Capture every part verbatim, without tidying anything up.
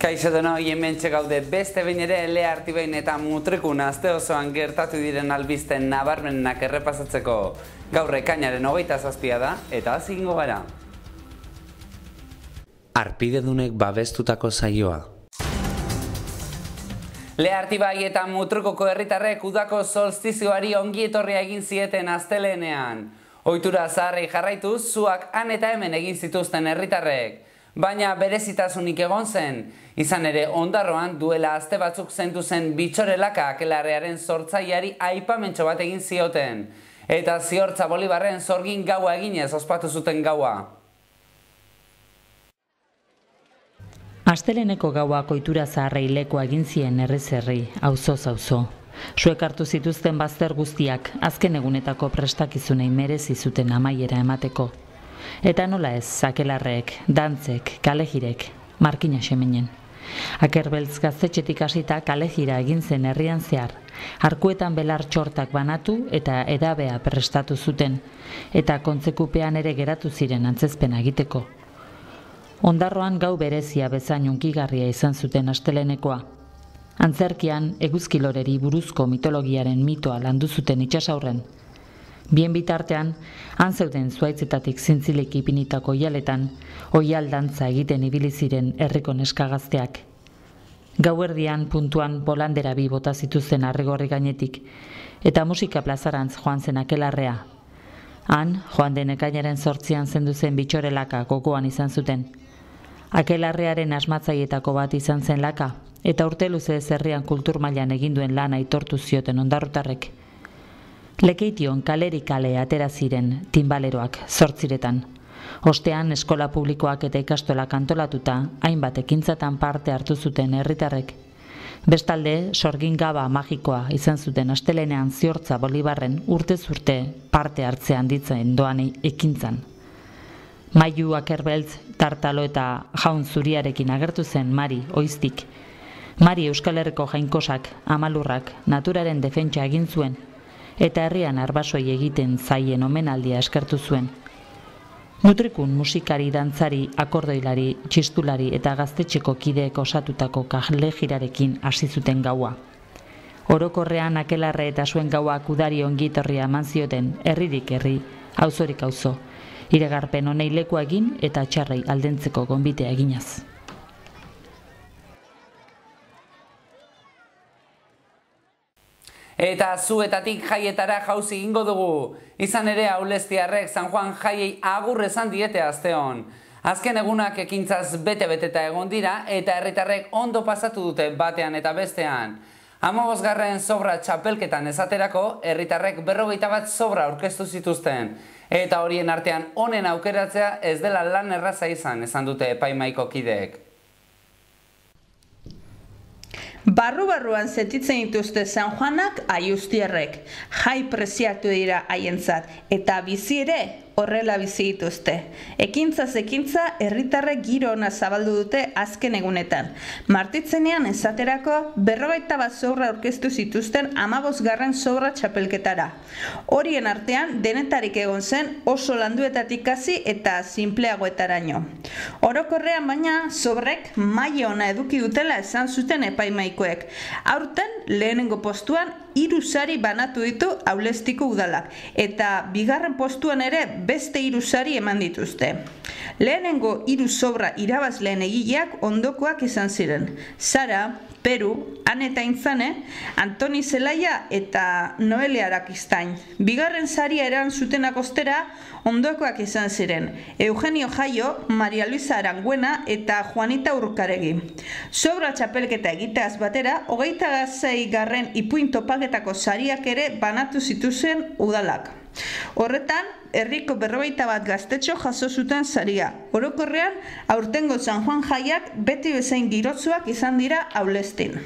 Kaixo denoi, hementxe gaude beste behin ere Lea Artibain eta Mutrikun aste osoan gertatu diren albisten nabarmenak errepasatzeko. Gaur ekainaren hogeita zazpia da eta hasi egingo gara. Arpidedunek babestutako saioa. Lea Artibai eta Mutrikuko herritarrek udako solstizioari ongi etorria egin zieten astelehenean. Ohitura zaharrei jarraituz, zuak han eta hemen egin zituzten herritarrek. Baina berezitasunik egon zen, izan ere Ondarroan duela aste batzuk zentu zen Bitxorelaka akelarrearen sortzaileari aipamentxo bat egin zioten. Eta Ziortza Bolibarren sorgin gaua eginez ospatu zuten gaua. Asteleneko gauak ohitura zaharrei lekoa egin zien herriz-herri, auzoz auzo. Zuek hartu zituzten bazter guztiak, azken egunetako prestakizunei merezi zuten amaiera emateko. Eta nola ez, akelarrek, dantzek, kalejirek, markina xemenen. Akerbeltz gaztetxetik hasita kalejira egin zen herrian zehar, arkuetan belar txortak banatu eta edabea prestatu zuten, eta kontzekupean ere geratu ziren antzezpena egiteko. Ondarroan gau berezia bezain hunkigarria izan zuten astelenekoa. Antzerkian eguzkiloreri buruzko mitologiaren mitoa landu zuten itsasaurren. Bien bitartean, han zeuden zuaitzetatik zintzilik ipinitako oihaletan, oihal dantza egiten ibili ziren herriko neskagazteak. Gauerdian puntuan bolandera bi bota zituzten arrigorri gainetik, eta musika plazarantz joan zen akelarrea. Han, joan den ekainaren zortzian zendu zen Bitxorelaka gogoan izan zuten. Akelarrearen asmatzaietako bat izan zen laka, eta urte luzez herrian kultur mailan egin duen lana aitortu zioten ondarrutarrek. Lekeition kaleri kale atera ziren tinbaleroak zortziretan. Ostean eskola publikoak eta ikastolak antolatuta hainbat ekintzatan parte hartu zuten herritarrek. Bestalde, sorgin gaba magikoa izan zuten astelenean Ziortza Bolibarren urtez urte parte hartzean ditzen doan ekintzan. Mailu Akerbeltz, Tartalo eta Jaun Zuriarekin agertu zen Mari Oiztik. Mari Euskal Herriko jainkosak, amalurrak, naturaren defentsa egin zuen, eta herrian arbasoi egiten zaien omenaldia eskertu zuen. Mutrikun musikari, dantzari, akordoilari, txistulari eta gaztetxeko kideek osatutako kalejirarekin hasi zuten gaua. Orokorrean akelarre eta zuen gauak udari ongitorria eman zioten herririk herri, auzorik auzo, iragarpen honei lekua egin eta txarrei aldentzeko gonbitea eginaz. Eta zuetatik jaietara jauzi egingo dugu. Izan ere Aulestiarrek San Juan jaiei agur esan diete asteon. Azken egunak ekintzaz bete-beteta egon dira eta herritarrek ondo pasatu dute batean eta bestean. Hamabosgarren sobra txapelketan esaterako, herritarrek berrogeita bat sobra aurkeztu zituzten. Eta horien artean honen aukeratzea ez dela lan erraza izan, esan dute epaimahaiko kideek. Barru-barruan sentitzen dituzte San Juanak Aiustiarrek, jai preziatu dira haientzat, eta bizi ere horrela bizi dituzte. Ekintzaz ekintza herritarrek giro ona zabaldu dute azken egunetan. Martitzenean esaterako berrogeita bat sobra aurkeztu zituzten hamabosgarren sobra txapelketara. Horien artean denetarik egon zen oso landuetatik hasi eta sinpleagoetaraino. Orokorrean baina sobrek maila ona eduki dutela esan zuten epaimahaikoek. Aurten lehenengo postuan hiru sari banatu ditu Aulestiko udalak, eta bigarren postuan ere beste hiru sari eman dituzte. Lehenengo hiru sobra irabazleen egileak ondokoak izan ziren. Sara, Peru, Han eta Intzane, Antoni Zelaia eta Noelia Arakistain. Bigarren saria eran zutenak ostera ondokoak izan ziren. Eugenio Jaio, Maria Luisa Aranguena eta Juanita Urkaregi. Sobra txapelketa egiteaz batera, hogeita sei garren ipuin topaketako sariak ere banatu zituzen udalak. Horretan, herriko berrogeita bat gaztetxo jaso zuten saria. Orokorrean, aurtengo San Juan jaiak beti bezain girotzuak izan dira Aulestin.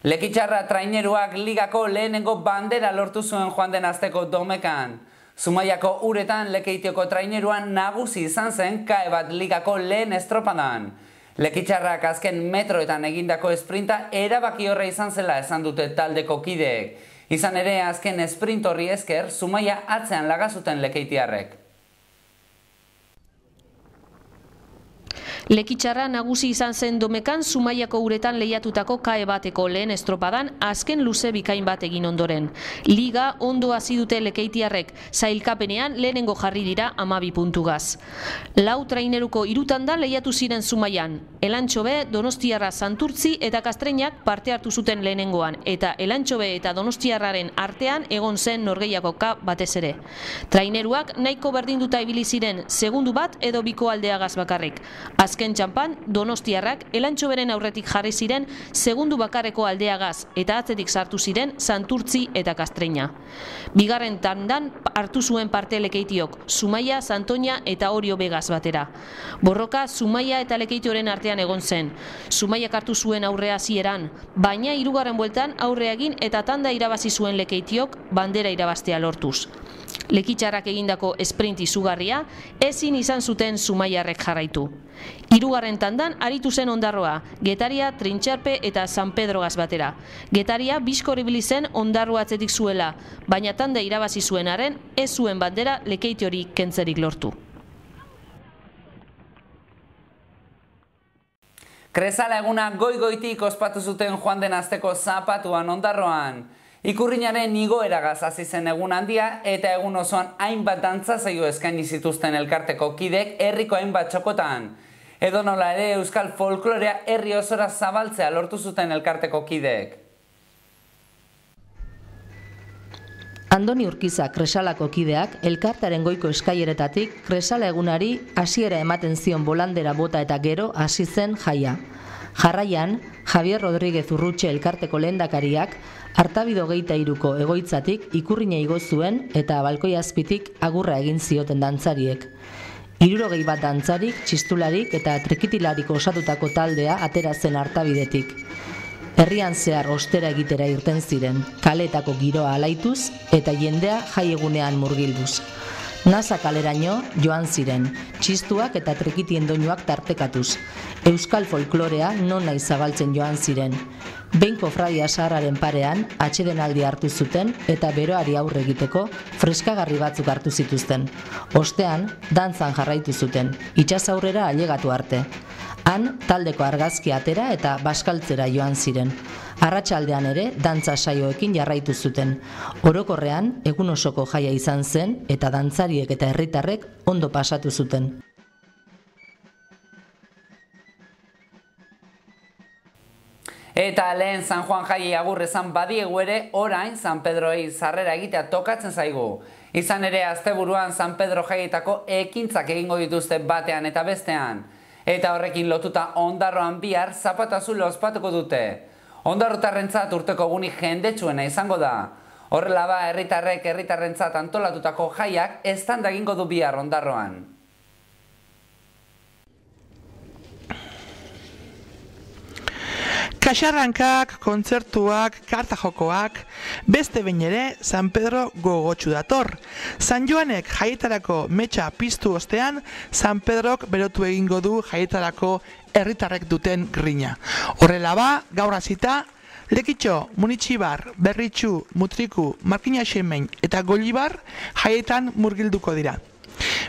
Lekitxarra traineruak ligako lehenengo bandera lortu zuen joan den asteko Domekan. Zumaiako uretan Lekeitioko traineruan nagusi izan zen K E bat ligako lehen estropadan. Lekitxarrak azken metroetan egindako esprinta erabaki horre izan zela esan dute taldeko kideek. Izan ere, azken sprint horri esker, Zumaia atzean laga zuten lekeitiarrek. Lekitxarra nagusi izan zen Domekan Zumaiako uretan lehiatutako kae bateko lehen estropadan azken luze bikain bat egin ondoren. Liga ondo hasi dute lekeitiarrek, sailkapenean lehenengo jarri dira hamabi puntugaz. Lau traineruko hirutandan lehiatu ziren Zumaian. Elantxobe, Donostiarra, Santurtzi eta Kastreinak parte hartu zuten lehenengoan, eta Elantxobe eta Donostiarraren artean egon zen norgehiagoka batez ere. Traineruak nahiko berdinduta ibili ziren segundu bat edo biko aldeagaz bakarrik. Azken txampan, Donostiarrak Elantxoberen aurretik jarri ziren segundu bakarreko aldeagaz eta atzetik sartu ziren Santurtzi eta Kastreina. Bigarren tandan hartu zuen parte lekeitiok, Zumaia, Santoña eta Orio Begaz batera. Borroka Zumaia eta lekeitioren artean egon zen. Zumaiak hartu zuen aurrea hasieran, baina hirugarren bueltan aurrea egin eta tanda irabazi zuen lekeitiok bandera irabaztea lortuz. Lekitxarrak egindako sprint izugarria ezin izan zuten Zumaiarrek jarraitu. Hirugarren tandan aritu zen Ondarroa, Getaria, Trintxarpe eta San Pedrogaz batera. Getaria bizkor ibili zen Ondarroa atzetik zuela, baina tanda irabazi zuenaren ez zuen bandera lekeitiori kentzerik lortu. Kresala eguna goi-goitik ospatu zuten joan den asteko zapatuan Ondarroan. Ikurrinaren igoeragaz hasi zen egun handia eta egun osoan hainbat dantza saio eskaini zituzten elkarteko kidek herriko hainbat txokotan. Edonola ere euskal folklorea herri osora zabaltzea lortu zuten elkarteko kidek. Andoni Urquiza Kresalako kideak elkartaren goiko eskaileretatik Kresala egunari hasiera ematen zion bolandera bota eta gero hasi zen jaia. Jarraian, Javier Rodríguez Urrutxe elkarteko lehendakariak Artabido geita iruko egoitzatik ikurrina igo zuen eta balkoi azpitik agurra egin zioten dantzariek. Hirurogei bat dantzarik, txistularik eta trikitilarik osatutako taldea atera zen Artabidetik. Herrian zehar ostera egitera irten ziren, kaleetako giroa alaituz eta jendea jaiegunean murgilduz. Nasa kaleraino joan ziren, txistuak eta trikitien doinuak tartekatuz. Euskal folklorea non nahi zabaltzen joan ziren. Behin kofradia zaharraren parean atsedenaldi hartu zuten eta beroari aurre egiteko freskagarri batzuk hartu zituzten. Ostean, dantzan jarraitu zuten, itsasaurrera ailegatu arte. Han, taldeko argazki atera eta baskaltzera joan ziren. Arratsaldean ere, dantza saioekin jarraitu zuten. Orokorrean, egun osoko jaia izan zen eta dantzariek eta herritarrek ondo pasatu zuten. Eta lehen San Juan jaiei agur esan badiegu ere, orain San Pedroei sarrera egitea tokatzen zaigu. Izan ere, asteburuan San Pedro jaietako ekintzak egingo dituzte batean eta bestean. Eta horrekin lotuta Ondarroan bihar zapatu azul ospatuko dute. Ondarrotarrentzat urteko egunik jendetsuena izango da. Horrela ba, herritarrek herritarrentzat antolatutako jaiak eztanda egingo du bihar Ondarroan. Kaxarrankak, kontzertuak, kartajokoak, beste behin ere San Pedro gogotsu dator. San Joanek jaietarako metxa piztu ostean, San Pedrok berotu egingo du jaietarako herritarrek duten grina. Horrela ba, gaur hasita, Lekitxo, Munitxibar, Berritxu, Mutriku, Markina Xemein eta Gollibar jaietan murgilduko dira.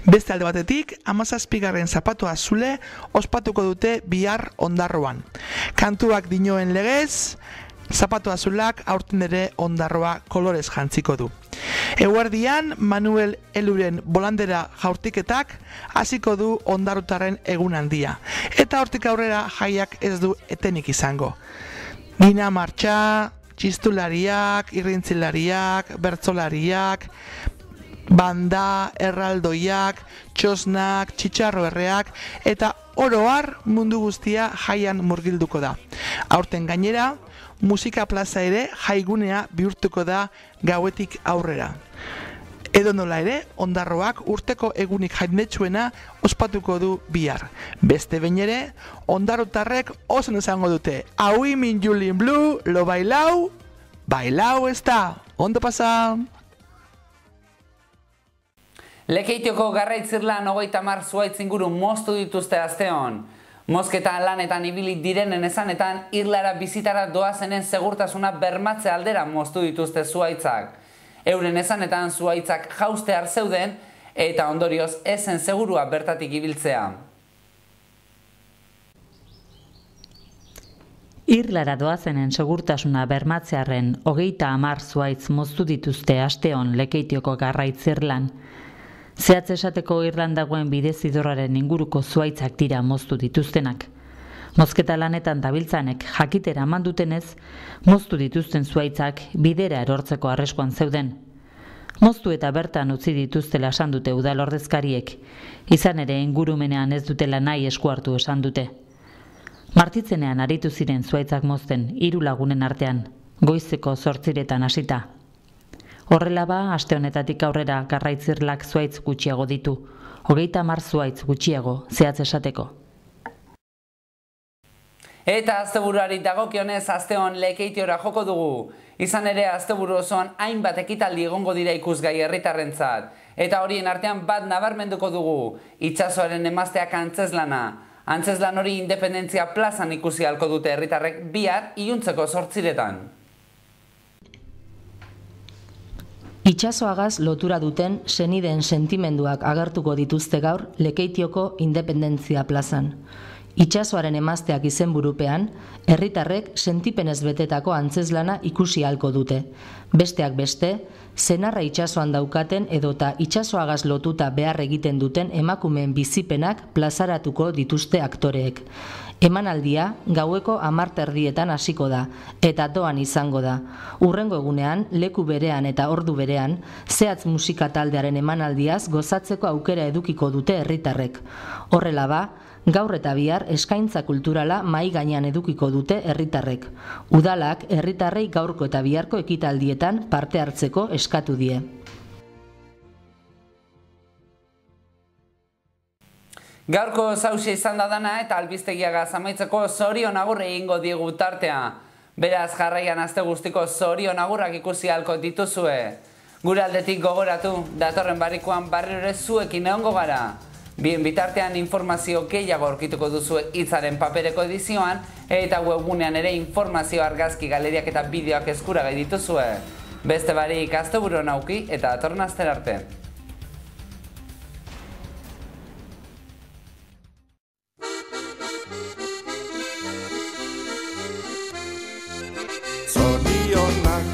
Beste alde batetik, hamazazpigarren zapatu azule ospatuko dute bihar Ondarroan. Kantuak dinoen legez, zapatu azulak aurten ere Ondarroa kolorez jantziko du. Eguerdian, Manuel Eluren bolandera jaurtiketak hasiko du Ondarrutarren egun handia. Eta hortik aurrera jaiak ez du etenik izango. Gina martxa, txistulariak, irrintzilariak, bertzolariak, banda, erraldoiak, txosnak, txitxarro erreak, eta oroar mundu guztia jaian murgilduko da. Aurten gainera, musika plaza ere jaigunea bihurtuko da gauetik aurrera. Edo nola ere, Ondarroak urteko egunik jendetsuena ospatuko du bihar. Beste behin ere, ondarrotarrek oso izango dute. Aui min Julien Blue, lo bailau, bailau ez da. Ondo pasa! Lekeitioko garraitzirlan hogeita hamar zuhaitz inguru moztu dituzte asteon. Mozketa lanetan ibili direnen esanetan, irlara bizitara doazenen segurtasuna bermatze aldera moztu dituzte zuhaitzak. Euren esanetan zuhaitzak jaustear zeuden eta ondorioz ezen segurua bertatik ibiltzea. Irlara doazenen segurtasuna bermatzearren hogeita hamar zuhaitz moztu dituzte asteon Lekeitioko garraitzirlan. Zehatz esateko Irlandagoen bidezidorraren inguruko zuhaitzak dira moztu dituztenak. Mozketa lanetan dabiltzanek jakitera eman dutenez, moztu dituzten zuhaitzak bidera erortzeko arriskuan zeuden. Moztu eta bertan utzi dituztela esan dute udal ordezkariek, izan ere ingurumenean ez dutela nahi esku hartu esan dute. Martitzenean aritu ziren zuhaitzak mozten hiru lagunen artean, goizeko zortziretan hasita. Horrela ba, aste honetatik aurrera garraitzirlak zuhaitz gutxiago ditu, hogeita hamar zuhaitz gutxiago, zehatz esateko. Eta asteburuari dagokionez asteon Lekeitiora joko dugu. Izan ere asteburu osoan hainbat ekitaldi egongo dira ikusgai herritarrentzat. Eta horien artean bat nabarmenduko dugu, itsasoaren emazteak antzezlana. Antzezlan hori Independentzia plazan ikusi ahalko dute herritarrek bihar iluntzeko zortziretan. Itsasoagaz lotura duten senideen sentimenduak agertuko dituzte gaur Lekeitioko Independentzia plazan. Itsasoaren emazteak izenburupean, herritarrek sentipenez betetako antzezlana ikusi ahalko dute. Besteak beste, senarra itsasoan daukaten edota itsasoagaz lotuta behar egiten duten emakumeen bizipenak plazaratuko dituzte aktoreek. Emanaldia gaueko hamar erdietan hasiko da, eta doan izango da. Hurrengo egunean, leku berean eta ordu berean, zehatz musika taldearen emanaldiaz gozatzeko aukera edukiko dute herritarrek. Horrela ba, gaur eta bihar eskaintza kulturala mahai gainean edukiko dute herritarrek. Udalak herritarrei gaurko eta biharko ekitaldietan parte hartzeko eskatu die. Gaurko zausia izan da dana eta albistegiagaz amaitzeko zorion agurre egingo diegu tartea. Beraz jarraian aste guztiko zorion agurrak ikusi ahalko dituzue. Gure aldetik gogoratu, datorren barrikoan barriro ere zuekin egongo gara. Bien bitartean informazio gehiago aurkituko duzue hitzaren papereko edizioan eta webgunean ere informazio argazki galeriak eta bideoak eskuragai dituzue. Beste barik asteburu nauki eta datorren astera arte. Zorionak,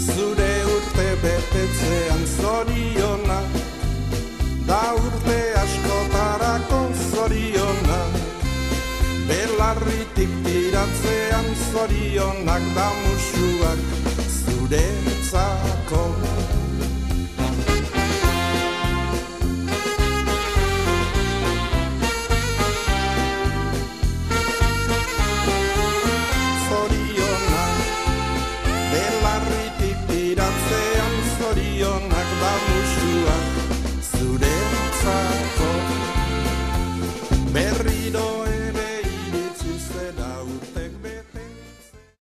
zure urte betetzean zorionak, da urte askotarako zorionak, belarritik tiratzean zorionak, da musuak zuretzako.